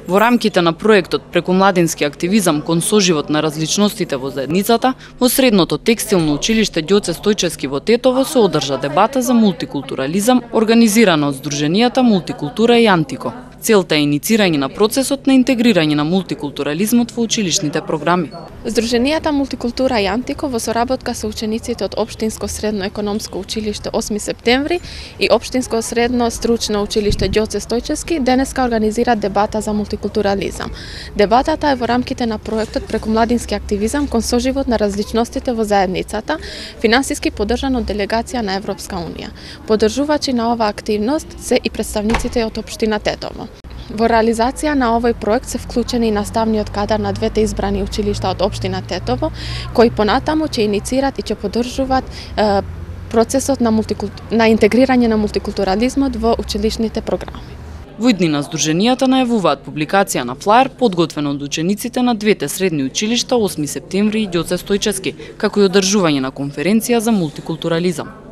Во рамките на проектот преку младински активизам кон соживот на различностите во заедницата, во средното текстилно училиште Ѓоце Стојчевски во Тетово се одржа дебата за мултикултурализам, организирана од Сдруженијата Мултикултура и Антико. Целта е иницирање на процесот на интегрирање на мултикултурализмот во училишните програми. Сдруженијата Мултикултура и Антико во соработка со учениците од Општинско средно економско училиште 8 септември и Општинско средно стручно училиште Ѓоце Стојчевски денеска организираат дебата за мултикултурализам. Дебатата е во рамките на проектот преку младински активизам кон соживот на различностите во заедницата, финансиски поддржан од делегација на Европска унија. Поддржувачи на оваа активност се и представниците од општина Тетово. Во реализација на овој проект се вклучени и наставниот кадар на двете избрани училишта од општина Тетово, кои понатаму ќе иницират и ќе поддржуваат процесот на интегрирање на мултикултурализмот во училишните програми. Во иднина Сдруженијата најавуваат публикација на флаер подготвен од учениците на двете средни училишта 8 септември и Ѓоце Стојчевски, како и одржување на конференција за мултикултурализам.